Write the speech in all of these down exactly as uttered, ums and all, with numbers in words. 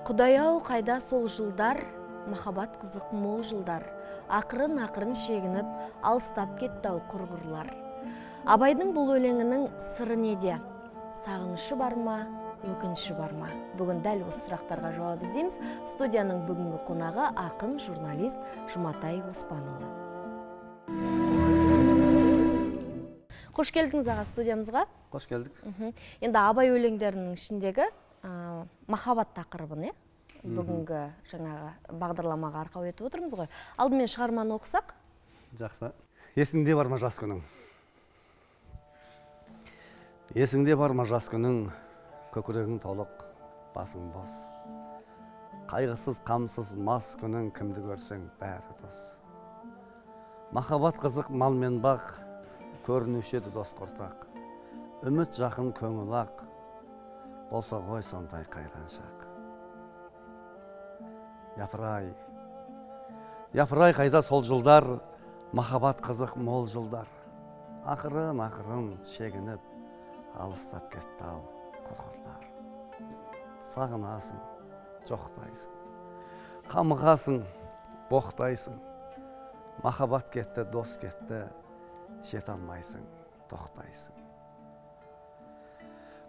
Құдай-ау қайда сол жылдар, махаббат қызық мол жылдар, ақырын-ақырын шегініп, алыстап кетті-ау құрғырлар. Абайдың бұл өлеңінің сыры неде? Сағынышы бар ма, өкініші бар ма? Бүгін дәл осы сұрақтарға жауап іздейміз. Студияның бүгінгі қонағы ақын, журналист Жұматай Оспанұлы. Қош келдіңіз аға студиямызға. Қош келдік. Енді Абай өлеңдерінің ішіндегі махаббат тақырыбын, бүгінгі жаңағы бағдарламаға арқау етіп отырмыз ғой. Алдымен шығарманы оқысақ? Жақсы. Есіңде бар ма жас күнің? Есіңде бар ма жас күнің, көкірегің толық, басың бос. Қайғысыз, қамсыз, мас күнің, кімді көрсең бәрі дос. Махаббат қызық мал мен бақ, көрінуші еді дос құртақ. Үміт жақын көңіл ақ, болса ғой сондай қайран шақ. Япырай, япырай қайда сол жылдар, махаббат қызық мол жылдар. Ақырын-ақырын шегініп, алыстап кетті-ау құрғырлар. Сағынасың, жоқтайсың, қамығасың, боқтайсың. Махаббат кетті, дос кетті, жете алмайсың, тоқтайсың.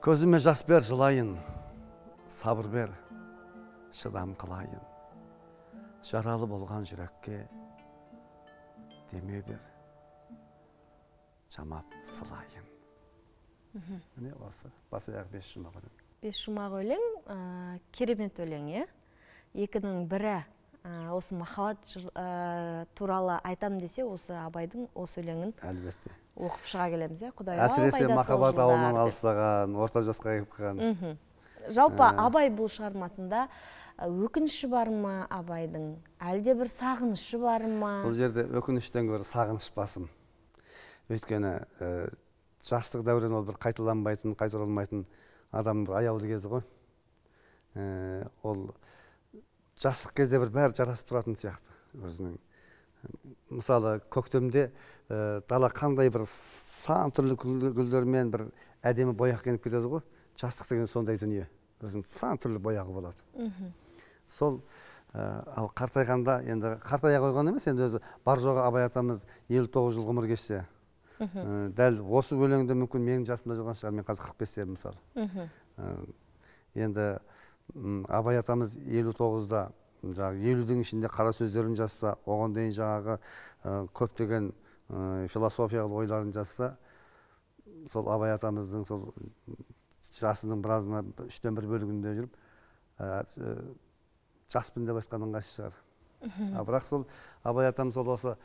Көзіме жас бер жылайын, сабыр бер, шыдам қылайын. Жаралы болған жүрекке деме бер, жамап сылайын. Міне осы, басы аяғы бес жұмақ өлең. Бес жұмақ өлең, керемет өлең, е? Екінің бірі осы махаббат туралы айтам десе, осы Абайдың осы өлеңін әлбетте оқып шыға келеміз, е? Құдай-ау әсіресе махаббат ауылынан алыстаған, орта жасқа келіп қалған. Жалпы Абай бұл шығармасында өкініші бар ма Абайдың? Әлде бір сағынышы бар ма? Бұл жерде өкініштен гөрі сағыныш басым. Өйткені жастық дәурен ол бір қайталанбайтын, қайтарылмайтын адамның бір аяулы кезі ғой. Ол жастық кезде бір бәрі жарасып тұратын сияқты өзінің. Мысалы, көктемде дала қандай бір сан түрлі гүлдермен бір әдемі бояқ кеніп кетеді ғой. Жастық деген сондай дүние. Өзінің сан түрлі бояғы болады. Сол, ал қартайғанда, енді қартая қойған емес, енді өзі бар жоғы Абай атамыз елу тоғыз жыл ғұмыр кешсе. Дәл осы өлеңде мүмкін менің жасымда жүрген шығар, мен қазір қырық бесте мысалы. Енді Абай атамыз елу тоғызда, елудің ішінде қара сөздерін жазса, оған дейін жаңағы көптеген философиялық ойларын жазса, сол Абай атамыздың сол жасының біразына үштен бір бөлігінде жүріп, жаспын деп айтқан ыңғайсыз шығар. Бірақ сол Абай атамыз сол осы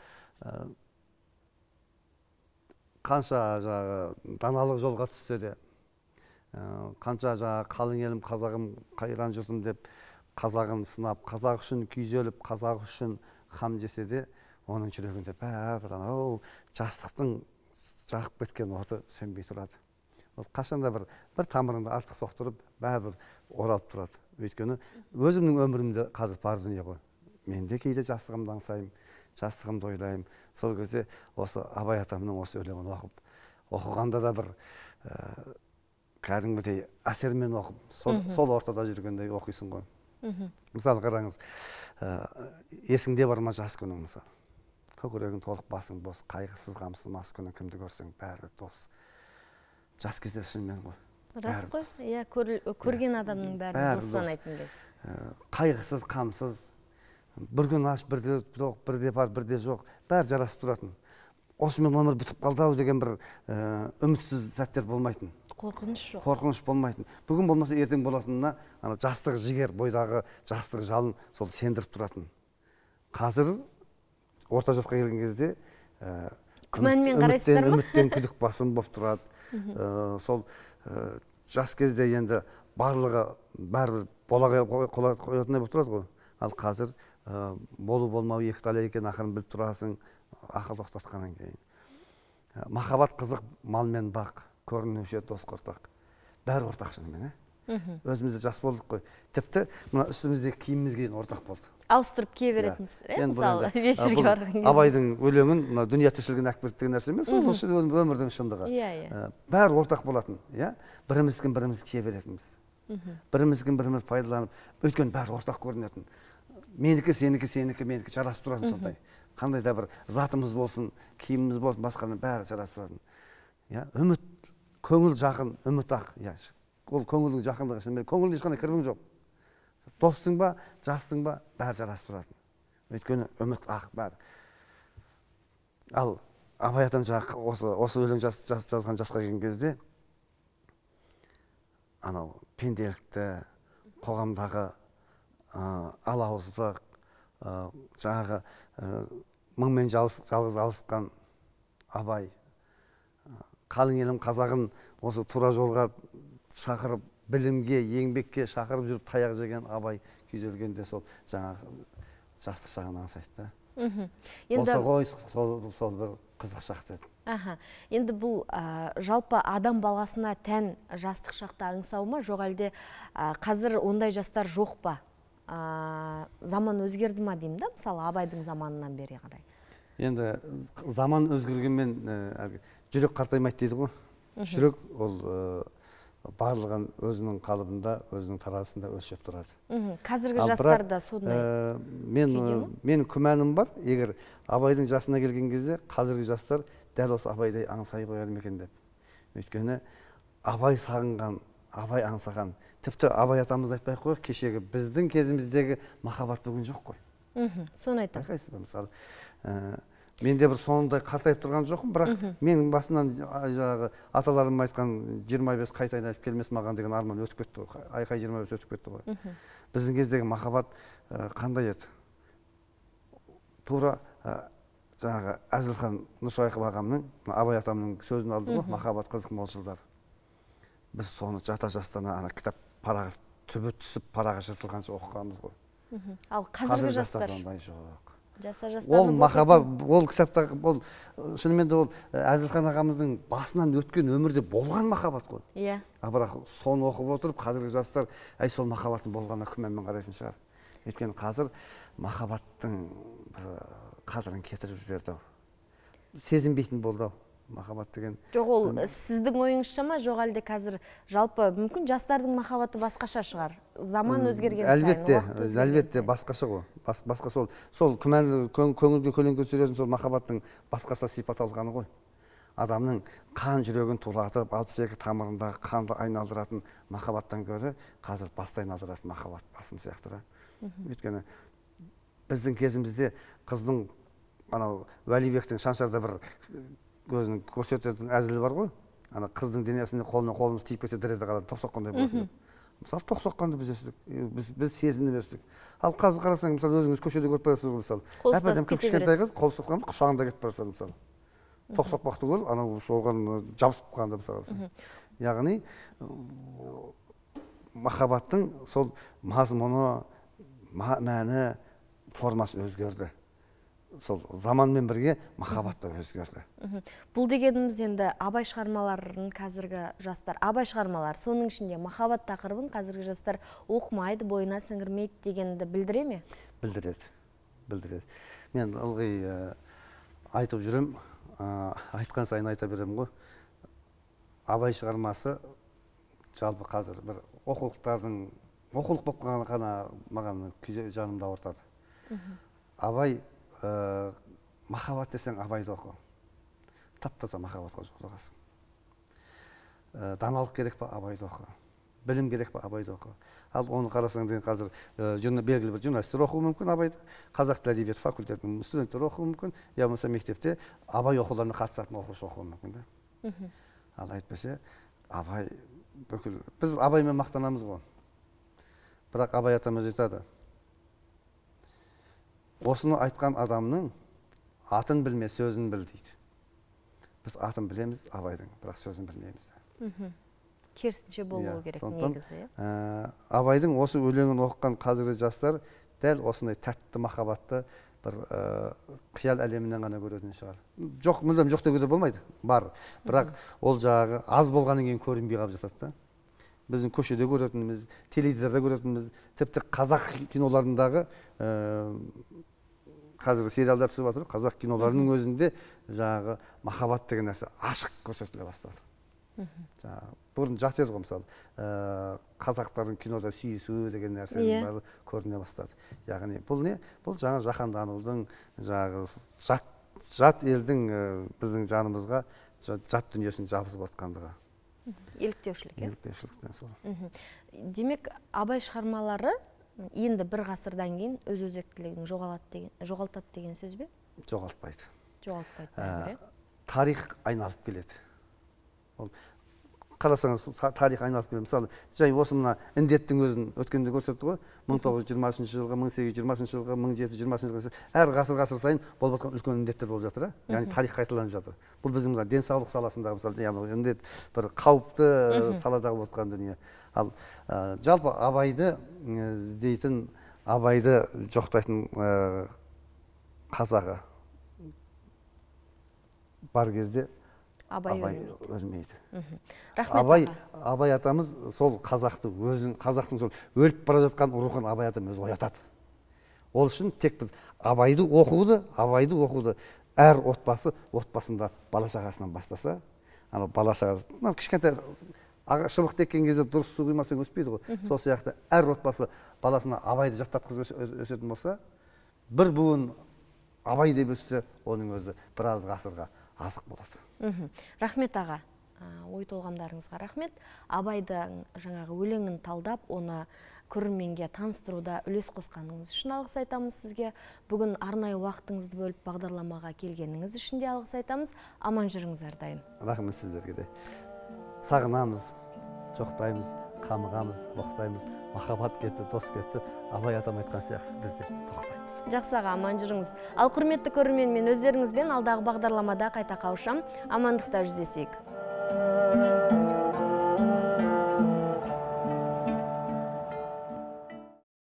қанша даналық жолға түссе де, қанша қалың елім, қазағым, қайран жұртым деп қазағын сынап, қазақ үшін күйзеліп, қазақ үшін хам жесе де, оның жүрегінде бәрі анау жастықтың жағып кеткен оты сөнбей тұрады. Ол қашанда бір бір тамырыңды артық соқтырып, бәрі оралып тұрады. Өйткені өзімнің өмірімде қазір бар дүние ғой. Мен де кейде жастығымды аңсаймын, жастығымды ойлаймын. Сол кезде осы Абай атамның осы өлеңін оқып, оқығанда да бір кәдімгідей әсермен оқып, сол ортада жүргендей оқисың ғой. Мысалы қараңыз, есіңде бар ма жас күнің мысалы. Көкірегің толық, басың бос, қайғысыз, қамсыз, мас күнің, кімді көрсең бәрі дос. Жас кезде шынымен ғой. Рас қой, иә, көрген адамның бәрі дос санайтын кез. Қайғысыз, қамсыз, бір күн аш, бірде жоқ, бірде бар, бірде жоқ, бәрі жарасып тұратын. Осымен өмір бітіп қалды-ау деген бір үмітсіз сәттер болмайтын. Қорқыныш жоқ. Қорқыныш болмайтын. Бүгін болмаса ертең болатынына жастық жігер, бойдағы жастық жалын сол сендіріп тұратын. Қазір орта жасқа келген кезде күмәнмен қарайсыздар ма? Үміттен күдік басым болып тұрады. Сол жас кезде енді барлығы бәрібір бола қоятындай болып тұрады ғой. Ал қазір болу болмау екі талай екен, ақырын біліп тұрасың, ақыл тоқтатқаннан кейін. Махаббат қызық мал мен бақ, көрінуші дос құртақ. Бәрі ортақ шынымен, е? Өзімізде жас болдық қой. Тіпті мына үстіміздегі киімімізге дейін ортақ болды. Ауыстырып кие беретініз, мысалы, вечерге барған кезде. Абайдың өлеңін, дүние тіршілігін әкпіріп деген нәрсе емес, сол өмірдің шындығы. Бәрі ортақ болатын, біріміздің біріміз кие беретініміз. біріміздің біріміз пайдаланып, өйткені бәрі ортақ көрінетін. Менікі, сенікі, сенікі, менікі жарасып тұратын сондай. Қандай да бір затымыз болсын, киіміміз болсын, басқаның бәрі жарасып тұратын. Үміт, көңіл жақын, үміт ақ. Ол көңілдің жақындығы үшін, көңілдің ешқандай кірбің жоқ. Достың ба, жастың ба, бәрі жарасып тұратын. Өйткені үміт ақ бәрі. Ал Абай атам осы өлең жазған жасқа келген кезде, анау пенделікті, қоғамдағы алауыздық, жаңағы мыңмен жалғыз алысқан Абай, қалың елім қазағын осы тура жолға шақырып, білімге, еңбекке шақырып жүріп таяқ жеген Абай күйзелгенде сол жаңағы жастық шағын аңсайды. Осы ғой сол бір қызық шақ деп. Енді бұл жалпы адам баласына тән жастық шақты аңсау ма, жоқ әлде қазір ондай жастар жоқ па? Заман өзгерді ма деймін да, мысалы Абайдың заманынан бері қарай. Енді заман өзгергенмен жүрек қартаймайды дейді ғой. Жүрек ол барлығын өзінің қалыбында, өзінің тарасында өлшеп тұрады. Қазіргі жастар да сондай. Менің күмәнім бар, егер Абайдың жасына келген кезде қазіргі жастар дәл осы Абайдай аңсай қояр ма екен деп. Өйткені Абай сағынған, Абай аңсаған, тіпті Абай атамыз айтпай қойып, кешегі біздің кезіміздегі махаббат бүгін жоқ қой. Соны айтам. Байқайсыз ба, мысалы. Менде бір сондай қартайып тұрған жоқпын, бірақ менің басынан жаңағы аталарым айтқан жиырма бес қайта айналып келмес маған деген арман өтіп кетті ғой. Айқай жиырма бес өтіп кетті ғой. Біздің кездегі махаббат қандай еді? Тура жаңағы Әзілхан Нұршайықов ағамның, Абай атамның сөзін алды ғой, махаббат қызық мол жылдар. Біз соны жата жастана ана кітап парағы түбі түсіп парағы жыртылғанша оқығанбыз ғой. Ал қазіргі жастар ондай жоқ. Ол махаббат, ол кітапта, ол шынымен де ол Әзілхан ағамыздың басынан өткен өмірде болған махаббат қой. Иә. Бірақ соны оқып отырып, қазіргі жастар, әй сол махаббаттың болғанына күмәнмен қарайтын шығар. Өйткені қазір махаббаттың қадірін кетіріп жіберді. Сезінбейтін болды махаббат деген. Жоқ, ол сіздің ойыңызша ма, жоқ әлде қазір жалпы мүмкін жастардың махаббаты басқаша шығар. Заман өзгерген сайын, уақыт өзгерген сайын. Әлбетте, басқаша ғой. Басқа сол, сол күмән көңілге көлеңке түсіретін сол махаббаттың басқаша сипат алғаны ғой. Адамның қан жүрегін тулатып, алпыс екі тамырындағы қанды айналдыратын махаббаттан гөрі қазір басты айналдыратын махаббат басым сияқты. Өйткені біздің кезімізде қыздың анау Уәлибектің Шаншарда бір өзінің көрсететін әзілі бар ғой. Ана қыздың денесіне қолына қолымыз тиіп кетсе діреді қалады, тоқ соққандай болатын. Мысалы, тоқ соққанды біз өстік, біз сезініп өстік. Ал қазір қарасаң, мысалы, өзіңіз көшеде көріп барасыз ғой, мысалы. Әп-әдемі кішкентай қыз қол соққанда құшағында кетіп бара жатады, мысалы. Тоқ соқпақты көріп, анау соған жабысып қалғанда, мысалы. Яғни махаббаттың сол мазмұны, мәні, формасы өзгерді. Сол заманмен бірге махаббат та өзгерді. Бұл дегеніміз енді Абай шығармаларын қазіргі жастар, Абай шығармалар, соның ішінде махаббат тақырыбын қазіргі жастар оқымайды, бойына сіңірмейді дегенді білдіре ме? Білдіреді, білдіреді. Мен ылғи айтып жүрем, айтқан сайын айта берем ғой. Абай шығармасы жалпы қазір бір оқулықтардың, оқулық болып қалған ғана маған жанымды ауыртады. Абай махаббат десең Абайды оқы. Тап-таза махаббатқа жолығасың. Даналық керек па, Абайды оқы. Білім керек па, Абайды оқы. Ал оны қарасаң деген қазір белгілі бір журналистер оқуы мүмкін Абайды, қазақ тілі әдебиеті факультетінің студенттер оқуы мүмкін, я болмаса мектепте Абай оқуларына қатысатын оқушы оқуы мүмкін. Ал айтпаса, Абай бүкіл, біз Абаймен мақтанамыз ғой. Бірақ Абай атамыз айтады. Осыны айтқан адамның атын білме, сөзін біл дейді. Біз атын білеміз Абайдың, бірақ сөзін білмейміз. Керісінше болуы керек негізі. Абайдың осы өлеңін оқыған қазіргі жастар дәл осындай тәтті махаббатты бір қиял әлемінен ғана көретін шығар. Жоқ, мүлдем жоқ деуге болмайды, бар. Бірақ ол жағы аз болғаннан кейін көрінбей қалып жатады да. Біздің көшеде көретініміз, теледидарда көретініміз, тіпті қазақ киноларындағы қазір сериалдар түсіп жатыр, қазақ киноларының өзінде жаңағы махаббат деген нәрсе ашық көрсетіле бастады. жаңағы бұрын жат еді ғой, мысалы қазақтардың кинода сүйісу деген нәрсенің бәрі көріне бастады. Яғни бұл не? Бұл жаңа жаһанданудың, жаңағы жат жат елдің біздің жанымызға жат дүниесін жабысып жатқандығы. Еліктеушілік, е? Еліктеушіліктен сол. Демек, Абай шығармалары енді бір ғасырдан кейін өз өзектілігін жоғалтады деген сөз бе? Жоғалтпайды. Жоғалтпайды. Тарих айналып келеді. Қарасаңыз, тарих айналып келеді. Мысалы, жай осы мына індеттің өзін өткенде көрсетті ғой. мың тоғыз жүз жиырмасыншы жылғы, мың сегіз жүз жиырмасыншы жылғы, мың жеті жүз жиырмасыншы жылғы, әр ғасыр ғасыр сайын болып жатқан үлкен індеттер болып жатыр. Яғни тарих қайталанып жатыр. Бұл біздің денсаулық саласындағы, мысалы, індет бір қауіпті саладағы болып жатқан дүние. Ал жалпы Абайды іздейтін, Абайды жоқтайтын қазағы бар кезде Абай өлмейді. Абай, Абай атамыз сол қазақты өзін, қазақтың сол өліп бара жатқан рухын Абай атам өзі оятады. Ол үшін тек біз Абайды оқуды, Абайды оқуды әр отбасы отбасында бала шағасынан бастаса, ана бала шағасы, мынау кішкентай шыбық теккен кезде дұрыс су құймасаң өспейді ғой. Сол сияқты әр отбасы баласына Абайды жаттатқызып өсетін болса, бір буын Абай деп өссе, оның өзі біраз ғасырға азық болады. Рахмет аға, ой толғамдарыңызға рахмет. Абайдың жаңағы өлеңін талдап, оны көрерменге таныстыруда үлес қосқаныңыз үшін алғыс айтамыз сізге. Бүгін арнайы уақытыңызды бөліп бағдарламаға келгеніңіз үшін де алғыс айтамыз. Аман жүріңіз әрдайым. Рахмет сіздерге де. Сағынамыз, жоқтаймыз, қамығамыз, боқтаймыз, махаббат кетті, дос кетті. Абай атам айтқан сияқты біз де тоқтаймыз. Жақсы аға, аман жүріңіз. Ал құрметті көрермен, мен өздеріңізбен алдағы бағдарламада қайта қауышам. Амандықта жүздесейік.